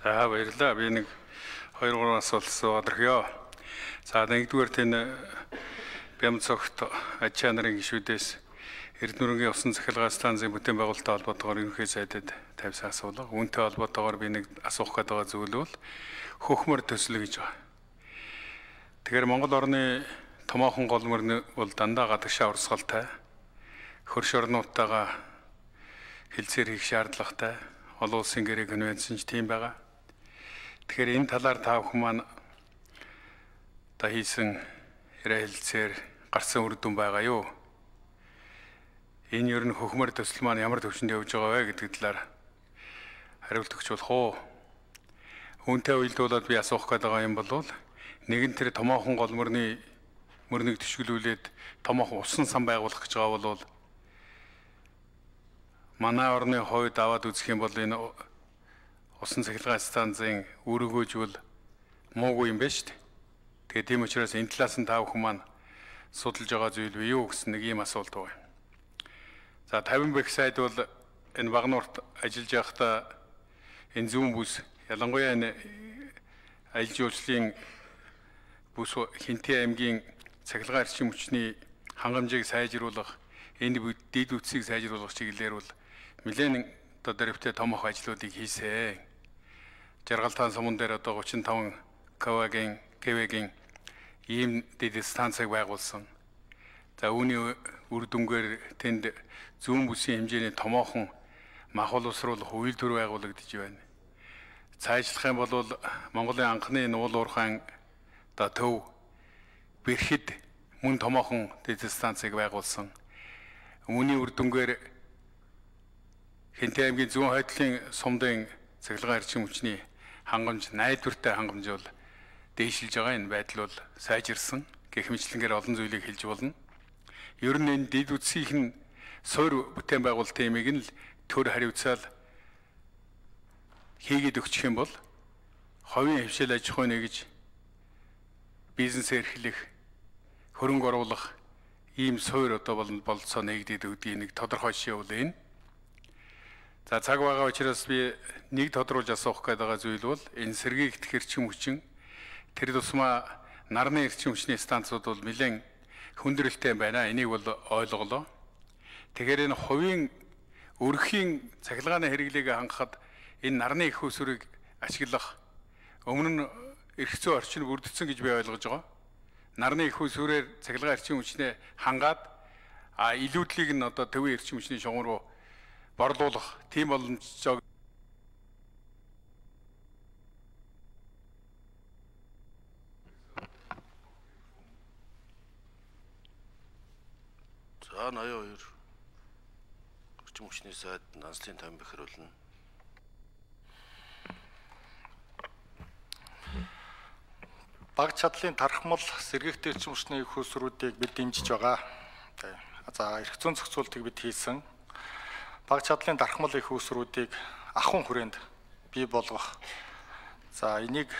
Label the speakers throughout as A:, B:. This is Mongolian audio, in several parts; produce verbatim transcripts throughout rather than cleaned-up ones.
A: За баярлалаа. Би нэг хоёр гурван асуулт асууад. За нэгдүгээр тэн бям цогт аж чанарын гишүүдээс Эрдэнэтийн усан цахилгаан станцын бүтээн байгуулалттай холбоотойгоор ерөнхий сайдад тавьсан асуулга. Үүнтэй холбоотойгоор би нэг асуух гээд байгаа зүйл бол хөхмөр төсөл гэж байна. Тэгэхээр Монгол орны томоохон гол мөрн бол дандаа гадагшаа урсгалтай, хөрш орнуудтайгаа хэлцээр хийх шаардлагатай, олон улсын гэрээ конвенцэн ч тийм байгаа. Тэгэхээр энэ талаар та бүхэн маань та хийсэн яриа хэлцээр гарсан үр дүн байгаа юу? Энэ ер нь хөхмөр төсөл маань ямар төвшөнд явж байгаа вэ гэдэг талаар хариулт өгч болох уу? Үүнтэй уялдуулаад би асуух гээд байгаа юм бол нэгэн тэр томоохон гол мөрний мөрнийг төшгөлүүлээд томоохон усан сан байгуулах гэж байгаа бол манай орны хувьд аваад үзэх юм бол энэ усан цахилгаан станцын өргөөжвөл муугүй юм байна шүү дээ. Тэгээд тийм учраас энэ талаас нь та бүхэн маань судалж байгаа зүйл бий юу гэсэн нэг ийм асуулт байна. За тавин бэх сайд бол энэ Багнуурт ажиллаж байхдаа энэ зүүн бүс ялангуяа энэ аялал жуулчлалын бүс Хинтээ аймгийн цахилгаан эрчим хүчний хангамжийг сайжруулах, энэ дэд үтсийг сайжруулах чиглэлээр бол нэлээд одоо дөрвтэй томох ажлуудыг хийсэн. Жаргалтаан суман дээр одоо гучин и таван кВ-гийн кВ-гийн ийм дэд станцыг байгуулсан. За үүний үр дүнгээр тэнд зүүн бүсийн хэмжээний томоохон махбол усруулах үйл төр байгуулагдж байна. Цаашлах юм бол Монголын анхны нуул уурхайн одоо төв бэрхэд мөн томоохон дэд станцыг байгуулсан. Үүний үр дүнгээр Хинтээ аймгийн зүүн хойдлын сумдын цахилгаан эрчим хүчний хангамж найдвартай хангамж бол дээшилж байгаа. Энэ байдал бол сайжирсан. Гэх мэтлэнгээр олон зүйлийг хэлж болно. Ер нь энэ дэд үтсийн суур бүтээн байгуулалтын имийг нь л төр хариуцаал хийгээд өгчих юм бол ховын хвшил аж ахуй нэгж бизнес эрхлэх, хөрөнгө оруулах ийм суур одоо бололцоо нэгдээд өгдгийг нэг тодорхой жишээ бол энэ. За цаг байгаа учраас би нэг тодруулж асуух гээд байгаа зүйл бол энэ сэргийгдэх эрчим хүчин тэр тусмаа нарны эрчим хүчний станцууд бол нэлээд хүндрэлтэй байна. Энийг бол ойлголоо. Тэгэхээр энэ хувийн өрхийн цахилгааны хэрэглээг хангахад энэ нарны их усрыг ашиглах өмнө нь эрх зүйн орчин бүрдсэн гэж би ойлгож байгаа. Нарны их усрээр цахилгаан эрчим хүчнээ хангаад а илүүдлийг нь одоо төвийн эрчим хүчний шугам руу борлуулах тийм боломжтой.
B: За ноён хоёр эрчим хүчний сайд Нанслын тавин бэхэрүүлнэ.
C: Баг чадлын тархмал сэргийгтэй эрчим хүчний их усруудыг бид дэмжиж байгаа. За эрх зүйн зохицуултыг бид хийсэн. Баг чадлын дархмал их усруудыг ахуйн хүрээнд бий болгох. За энийг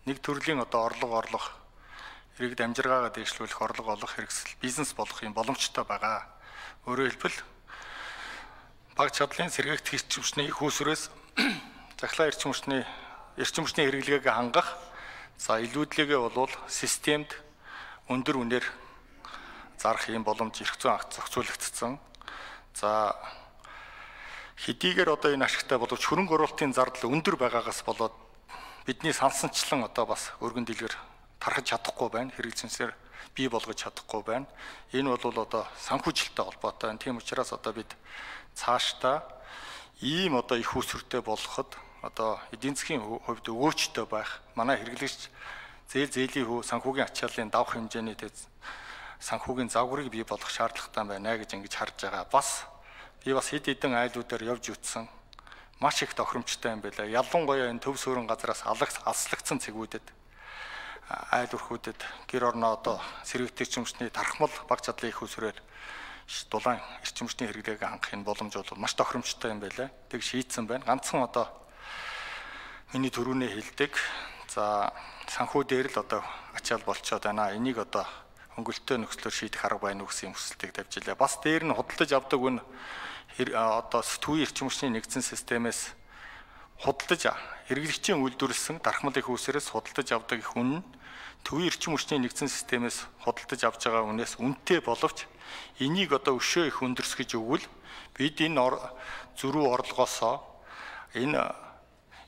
C: нэг төрлийн одоо орлого орлох, иргэд амжиргаагаа дэвшлүүлэх орлого олох хэрэгсэл бизнес болох юм боломжтой байгаа. Өөрөөр хэлбэл баг чадлын сэргийгдэх эрчим хүчний их усрээс цахилгаан эрчим хүчний эрчим хүчний хэрэглээг хангах, за илүүдлийгээ бол системд өндөр үнээр зарах юм боломж эрх зүйн акт зохицуулагдсан. За хэдийгээр одоо энэ ашигтай боловч хөрөнгө оруулалтын зардал өндөр байгаагаас болоод бидний сансанчлан одоо бас өргөн дэлгэр тархаж чадахгүй байна. Хэрэгцээсээр бий болгож чадахгүй байна. Энэ бол одоо санхүүжилттэй холбоотой. Тийм учраас одоо бид цаашдаа ийм одоо их усртэй болоход одоо эдийн засгийн хувьд өгөөчтэй байх. Манай хэрэглэгч зээл зээлийн хөв санхүүгийн ачааллын давх хэмжээний санхүүгийн загварыг бий болгох шаардлагатай байна гэж ингэж харж байгаа. Бас би бас хэд хэдэн айлуудаар явж үтсэн. Маш их тохиромжтой юм байлаа. Ялангуяа энэ төв суурин газраас алслагдсан цэгүүдэд айл өрхүүдэд гэр орноо одоо сэргийгдэх эрчим хүчний тархмал баг чадлын их усрээр дулаан эрчим хүчний хэрэглээг хангахын боломж бол маш тохиромжтой юм байлаа. Тэг шийдсэн байна. Ганцхан одоо миний төрүүнээ хэлдэг. За санхүү дээр л одоо ачаал болцоод байна. Энийг одоо хөнгөлтөө нөхцлөөр шийдэх арга байна уу гэсэн хүсэлтийг тавьжилаа. Бас дээр нь худалдаж авдаг үн одоо сэтгүүийн эрчим хүчний нэгдсэн системээс худалдаж хэрэглэгчийн үйлдвэрлэсэн дархмал их үүсээрээс худалдаж авдаг их үн нь төвийн эрчим хүчний нэгдсэн системээс худалдаж авж байгаа үнээс үнэтэй боловч энийг одоо өшөө их өндөрсгөж өгвөл бид энэ зөрүү орлогоосоо энэ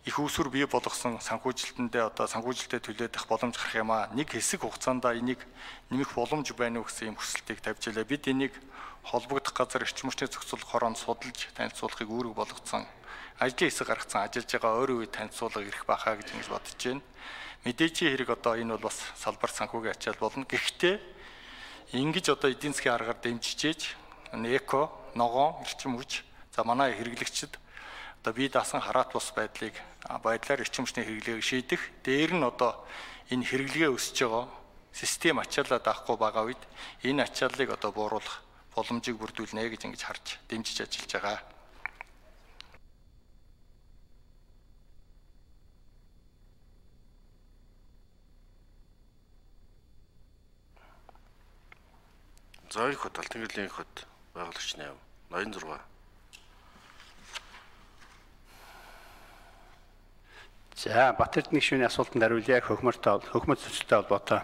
C: их үүсвэр бий болгосон санхүүжилтэндээ одоо санхүүжилтэд төлөөдөх боломж гарах юм аа. Нэг хэсэг хугацаанд энийг нэмэх боломж байна уу гэсэн юм хүсэлтийг тавьж илээ. Бид энийг холбогдох газар эрчим хүчний зохицуулах хороонд судалж танилцуулахыг үүрэг болгоцсон. Ажлын хэсэг гаргацсан ажиллаж байгаа ойрын үед танилцуулга ирэх байхаа гэж ингэж бодож байна. Мэдээжийн хэрэг одоо энэ бол бас салбар санхүүгийн ачаал болно. Гэхдээ ингэж одоо эдийн засгийн аргаар дэмжиж эко, ногоон, эрчим хүч за манай хэрэглэгчид одоо бие даасан хараат бус байдлыг байдлаар эрчим хүчний хэрэглээг шийдэх, дээр нь одоо энэ хэрэглэгээ өсөж байгаа систем ачаалаа даахгүй байгаа үед энэ ачааллыг одоо бууруулах боломжийг бүрдүүлнэ гэж ингэж харж дэмжиж ажиллаж байгаа.
B: За их хот Алтан гэрлийн их хот байгуулагч нэв ноён зураг.
D: За Батэрдний гишүүний асуултанд хариулъя хөхмөртэй хөхмөр зөрчилтэй холбоотой.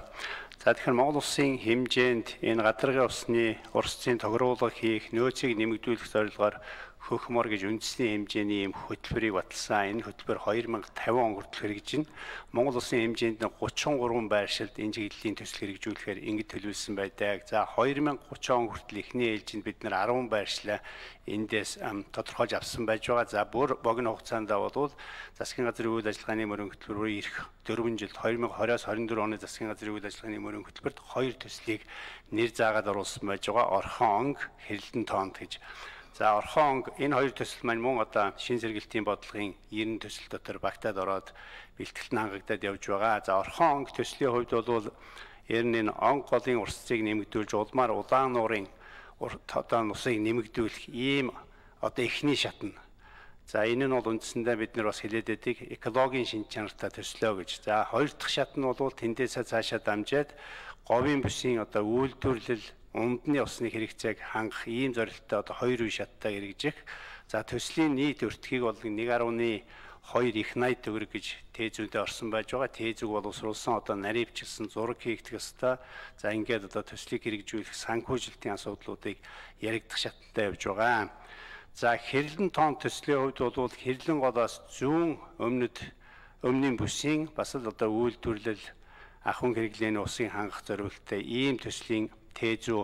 D: За тэгэхээр Монгол улсын хэмжээнд энэ гадаргын усны урсцын тохируулга хийх нөөцийг нэмэгдүүлэх зорилгоор хөхмөр гэж үндэсний хэмжээний юм хөтөлбөрийг баталсан. Энэ хөтөлбөр хоёр мянга тавин он хүртэл хэрэгжинэ. Монгол улсын хэмжээнд гучин гурван байршилд энэ чиглэлийн төсөл хэрэгжүүлэхээр ингэж төлөвлөсөн байдаг. За хоёр мянга гурван он хүртэл эхний ээлжинд бид нэр арван байршлаа эндээс тодорхойлж авсан байж байгаа. За бүр богино хугацаанд бол засгийн газрын үйл ажиллагааны мөрөн хөтөлбөрөөр ирэх дөрвөн жилд хоёр мянга двадцать двадцать дөрвөн оны засгийн газрын үйл ажиллагааны мөрөн хөтөлбөрт хоёр төслийг нэр заагаад оруулсан байж байгаа. Орхон онг, хэрэлдэн тоонд гэж. За орхон онг энэ хоёр төсөл маань мөн одоо шин сэргээлтийн бодлогын ерөн төсөл дотор багтаад ороод бэлтгэлт нь хангагдаад явж байгаа. За орхон онг төслийн хувьд бол ер нь энэ онг голын урсцыг нэмэгдүүлж улмаар улаан нуурын одоо нусыг нэмэгдүүлэх ийм одоо эхний шатна. За энэ нь бол үндсэндээ бид нар бас хэлээд байдаг экологийн шинж чанартай төслөө гэж. За хоёр дахь шат нь бол тэндээсээ цаашаа дамжаад говийн бүсийн одоо үйлдвэрлэл умдны усны хэрэгцээг хангах ийм зорилттой одоо хоёр үе шаттай хэрэгжих. За төслийн нийт өртгийг бол нэг гаруй хоёр их найд төгрөг гэж тээзүүдээ орсон байж байгаа. Тээзүүг боловсруулсан одоо наривчлсан зураг хийгдэх ёстой. За ингээд одоо төслийг хэрэгжүүлэх санхүүжилтийн асуудлуудыг яригдах шаттай явж байгаа. За хэрлэн тоон төслийн хувьд бол хэрлэн голоос зүүн өмнөд өмнгийн бүсийн бас л одоо үйлдвэрлэл ахуйн хэрэглээний усыг хангах зорилттой ийм төслийн тээзүү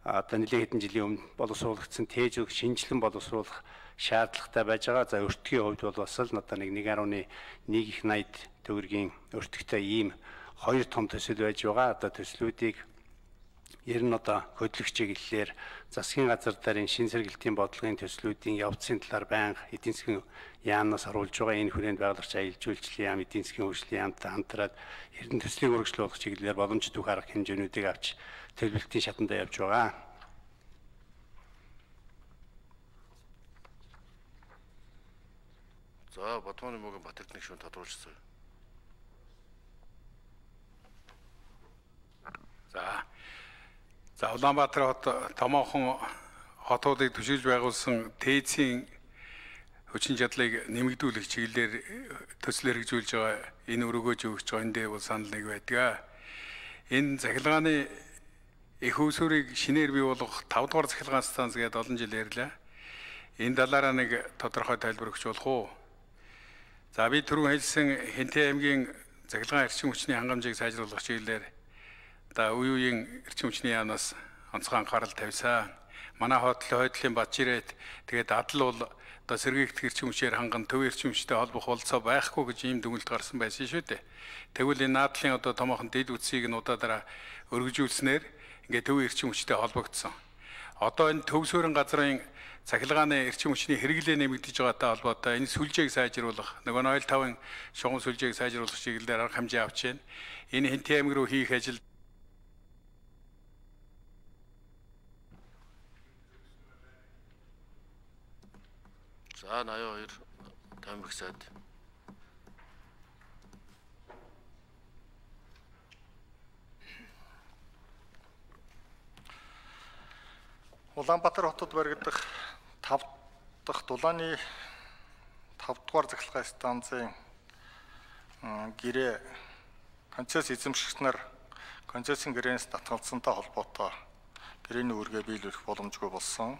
D: одоо нэлээд хэдэн жилийн өмнө боловсруулагдсан тээзүүг шинжилэн боловсруулах шаардлагатай байж байгаа. За өртгийн хувьд бол бас л одоо нэг нэг гаруй нэг их найд төгрөгийн өртөгтэй ийм хоёр том төсөл байж байгаа. Одоо төслүүдийг ер нь одоо хөдлөгч чиглэлээр засгийн газар дарын шин сэргээлтийн бодлогын төслүүдийн явцын талаар байнга эдийн засгийн яамнаас оруулж байгаа. Энэ хүрээнд байгуулагч аялал жуулчлалын яам, эдийн засгийн хөгжлийн яамтай хамтраад эрдэнэ төслийг үргэлжлүүлэх чиглэлээр боломжит бүх арга хэмжээнүүдийг авч төлөвлөлтийн шатанд явж байгаа.
B: За Батманы мөгийн Батэрдний гишүүн тодруулчихсан.
A: За За Улаанбаатар хот томоохон хотуудыг төшөөлж байгуулсан тээцийн хүчин чадлыг нэмэгдүүлэх чиглэлээр төсөл хэрэгжүүлж байгаа энэ өргөөж өгч байгаа эндээ бол санал нэг байдаг. Энэ захилгааны их усүрийг шинээр бий болгох тавд дугаар захилгаан станц гэдэг олон жил ярьлаа. Энэ талаараа нэг тодорхой тайлбар өгч болох уу? За би түрүүн хэлсэн Хэнтэй аймгийн захилгаан эрчим хүчний хангамжийг сайжруулах чиглэлээр да үе үеийн эрчим хүчний яамнаас онцгой анхаарал тавьсан. Манай хотын хойдлын Бачирэт тэгээд адал бол одоо сэргийгдэх эрчим хүчээр ханган төв эрчим хүчтэй холбох болцоо байхгүй гэж ийм дүгнэлт гарсан байсан шүү дээ. Тэгвэл энэ наадлын одоо томоохон дэд үтсийг нь удаадараа өргөжүүлснээр ингээд төв эрчим хүчтэй холбогдсон. Одоо энэ төв суурин газрын цахилгааны эрчим хүчний хэрэглээ нэмэгдэж байгаатай холбоотой энэ сүлжээг сайжруулах, нөгөө ноёл тавын шугам сүлжээг сайжруулах чиглэлээр арга хэмжээ авч байна. Энэ Хэнтэй аймаг руу хийх ажил
B: За наяа хоёр тамиг сайд.
C: Улаанбаатар хотод баригдах тав дахь дулааны тавд дугаар захиргааны станцын гэрээ концесс эзэмшигч нар концессийн гэрээнээс татгалзсантай холбоотой гэрээний үүргээ биелүүлэх боломжгүй болсон.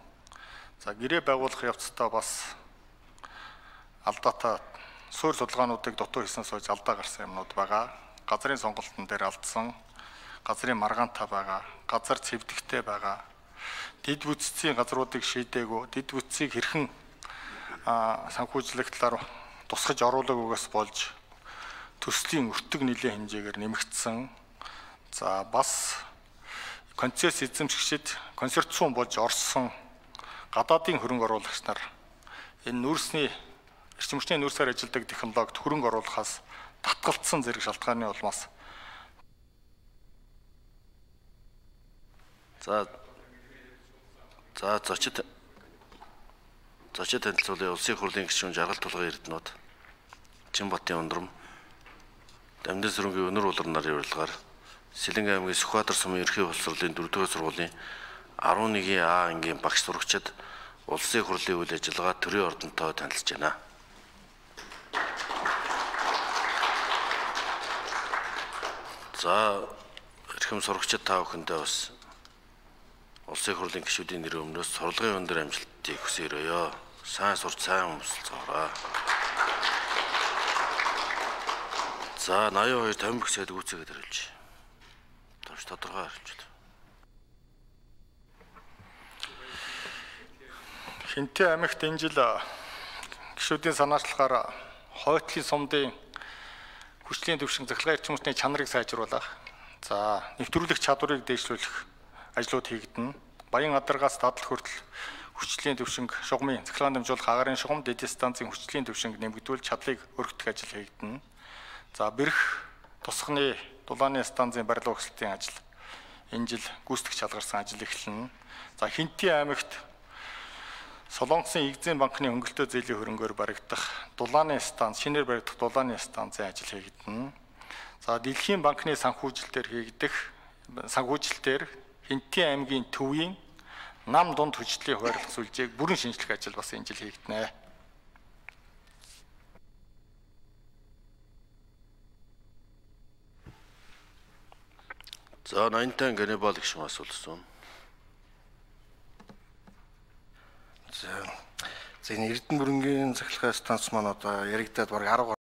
C: За гэрээ байгуулах явцдаа бас алдаатай суурь судалгаануудыг дутуу хийсэн сууж алдаа гарсан юмнууд байгаа. Газрын сонголтын дээр алдсан, газрын маргаантай байгаа, газар цэвдэгтэй байгаа. Дид бүтцийн газруудыг шийдээгүй, дид бүтцийг хэрхэн санхүүжлэх талаар тусгаж оруулаагүйгээс болж төслийн өртөг нийлэн хэмжээгээр нэмэгдсэн. За бас концесс эзэмшигчид консорциум болж орсон гадаадын хөрөнгө оруулагч нар энэ нүүрсний эрчим хүчний нүүрсээр ажилладаг технологид хөрөнгө оруулахаас татгалцсан зэрэг шалтгааны улмаас
B: За за зочид зочид танилцуулын улсын хурлын гишүүн жаргал тулгын эрдэнэт Чинбатын ундрам Дамжин сүрэнгийн өнөр улар нарын урилгаар Сэлэнг аймгийн Сүхбаатар сумын ерхий боловсролын дөрөвдүгээр сургуулийн арван нэгэн А ангийн багш сурагчид улсын хурлын үйл ажиллагаа төрийн ордонтой танилцж байна. За эрхэм сурагчид та бүхэндээ бас улсын хурлын гишүүдийн нэрийн өмнөөс сурлагын өндөр амжилтыг хүсээрөөё. Сайн сурч сайн өмсөлцөөрэй. За наяа хоёр тавин бүх сайд гүйцээгээд хариулж. Товч тодорхой хариулж.
C: Хинтээ аймагт энэ жил гишүүдийн санаачлахаар хойтлын сумдын хүчлийн төвшин захиргаа эрчим хүчний чанарыг сайжруулах, за нэвтрүүлэх чадварыг дээшлүүлэх ажлууд хийгдэнэ. Баян адаргаас дадал хүртэл хүчлийн төвшинг шугамын захиргаан дамжуулах агаарын шугам дэдийн станцын хүчлийн төвшинг нэмэгдүүл чадлыг өргөдөх ажил хийгдэнэ. За бэрх тусганы дулааны станцын барилга өгсөлтийн ажил энэ жил гүйцэтгэж шалгарсан ажил эхэлнэ. За Хинтээ аймагт Солонгосын Игзэн банкны хөнгөлтөө зээлийн хөрөнгөөр баригдах дулааны станц, шинээр баригдах дулааны станцын ажил хийгдэнэ. За Дэлхийн банкны санхүүжилтээр хийгдэх санхүүжилтээр Хинтээ аймгийн төвийн нам дунд хүчлийн хуваарлах сүлжээг бүрэн шинжлэх ажил бас энэ жил хийгдэнэ.
B: За наймтан Ганибал гэх юм асуулсан.
E: За энэ Эрдэнэ бүрэнгийн захиргааны станц маань одоо яригдаад бараг арга